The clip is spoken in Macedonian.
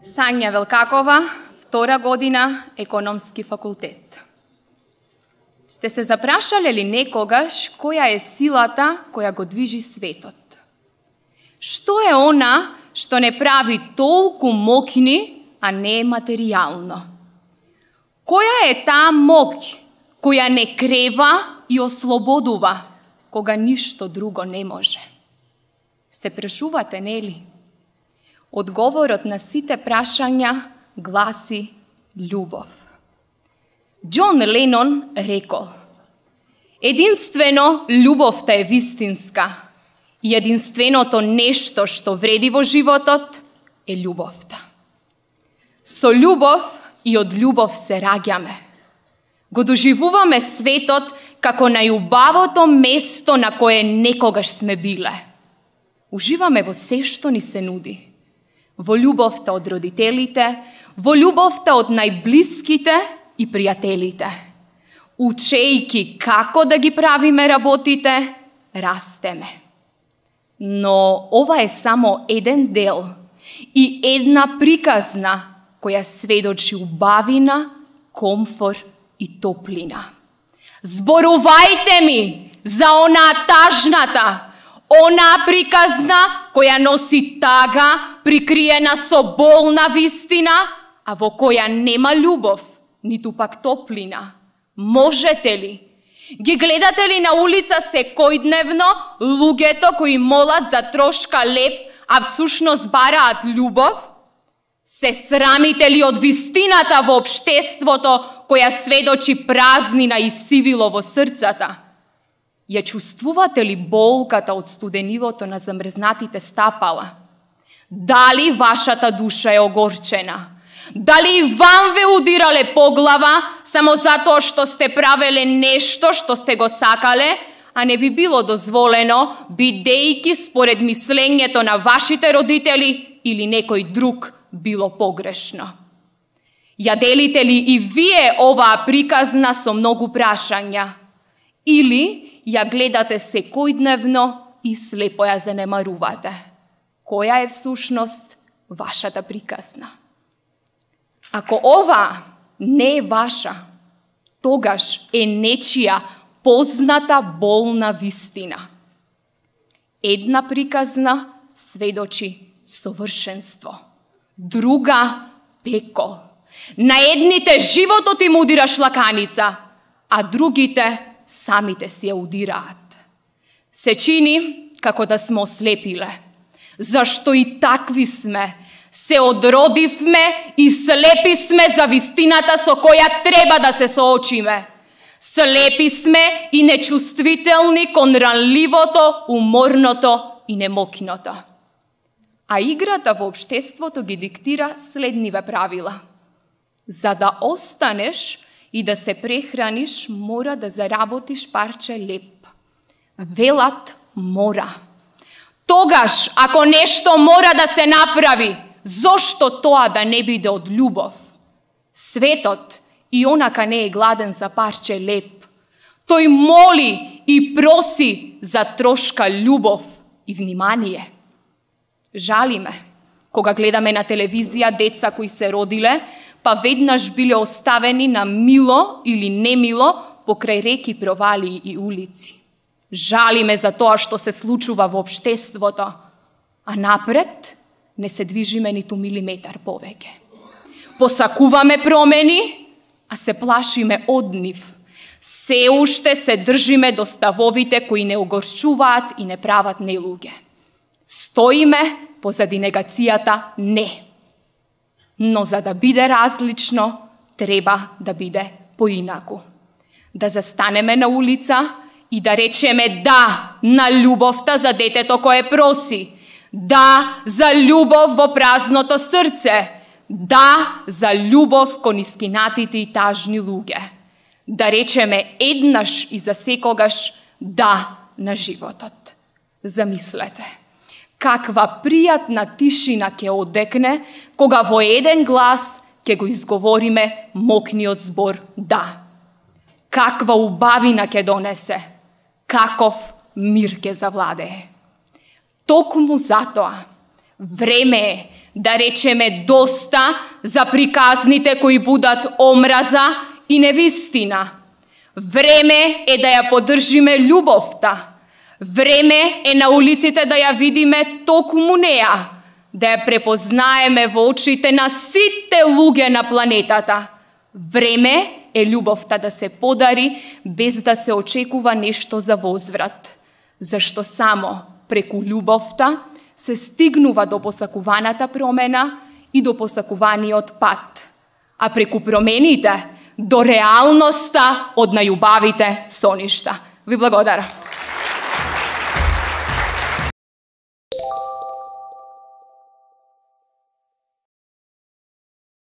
Сања Велкакова, 2 година, економски факултет. Сте се запрашале ли некогаш која е силата која го движи светот? Што е она што не прави толку моќни, а не материјално? Која е таа моќ која не крева и ослободува, кога ништо друго не може? Се прашувате, нели? Одговорот на сите прашања гласи љубов. Џон Ленон рекол: единствено љубовта е вистинска и единственото нешто што вреди во животот е љубовта. Со љубов и од љубов се раѓаме. Го доживуваме светот како најубавото место на кое некогаш сме биле. Уживаме во се што ни се нуди. Во љубовта од родителите, во љубовта од најблиските и пријателите. Учејки како да ги правиме работите, растеме. Но ова е само еден дел и една приказна која сведочи убавина, комфор и топлина. Зборувајте ми за онаа тажната, онаа приказна која носи тага, прикриена со болна вистина, а во која нема љубов, ниту пак топлина. Можете ли? Ги гледате ли на улица секојдневно луѓето кои молат за трошка леб, а всушност бараат љубов? Се срамите ли од вистината во општеството која сведочи празнина и сивило во срцата? Ја чувствувате ли болката од студенилото на замрзнатите стапала? Дали вашата душа е огорчена? Дали и вам ве удирале по глава само затоа што сте правеле нешто што сте го сакале, а не ви било дозволено, бидејќи според мислењето на вашите родители или некој друг било погрешно? Ја делите ли и вие оваа приказна со многу прашања? Или ја гледате секојдневно и слепо ја занемарувате? Која е всушност вашата приказна? Ако ова не е ваша, тогаш е нечија позната болна вистина. Една приказна сведочи совршенство, друга пекол. На едните животот им удира шлаканица, а другите самите си ја удираат. Се чини како да сме ослепиле, зашто и такви сме. Се одродивме и слепи сме за вистината со која треба да се соочиме. Слепи сме и нечувствителни кон ранливото, уморното и немоќното. А играта во општеството ги диктира следниве правила. За да останеш и да се прехраниш, мора да заработиш парче леб. Велат мора. Тогаш, ако нешто мора да се направи, зошто тоа да не биде од љубов? Светот и онака не е гладен за парче леб. Тој моли и проси за трошка љубов и внимание. Жали ме, кога гледаме на телевизија деца кои се родиле, па веднаш биле оставени на мило или немило покрај реки, провали и улици. Жали ме за тоа што се случува во општеството, а напред не се движиме ниту милиметар повеќе. Посакуваме промени, а се плашиме од нив. Се уште се држиме до ставовите кои не огорчуваат и не прават нелуѓе. Стоиме позади негацијата не. Но за да биде различно, треба да биде поинаку. Да застанеме на улица и да речеме да на љубовта за детето кое проси. Да за љубов во празното срце. Да за љубов кон искинатите и тажни луѓе. Да речеме еднаш и за секогаш да на животот. Замислете, каква пријатна тишина ќе одекне кога во еден глас ќе го изговориме мокниот збор да. Каква убавина ќе донесе, каков мир ќе завладее. Токму затоа време е да речеме доста за приказните кои будат омраза и невистина. Време е да ја поддржиме љубовта. Време е на улиците да ја видиме токму неа, да ја препознаеме во очите на сите луѓе на планетата. Време е љубовта да се подари без да се очекува нешто за возврат, зашто само преку љубовта се стигнува до посакуваната промена и до посакуваниот пат, а преку промените до реалноста од најубавите соништа. Ви благодарам.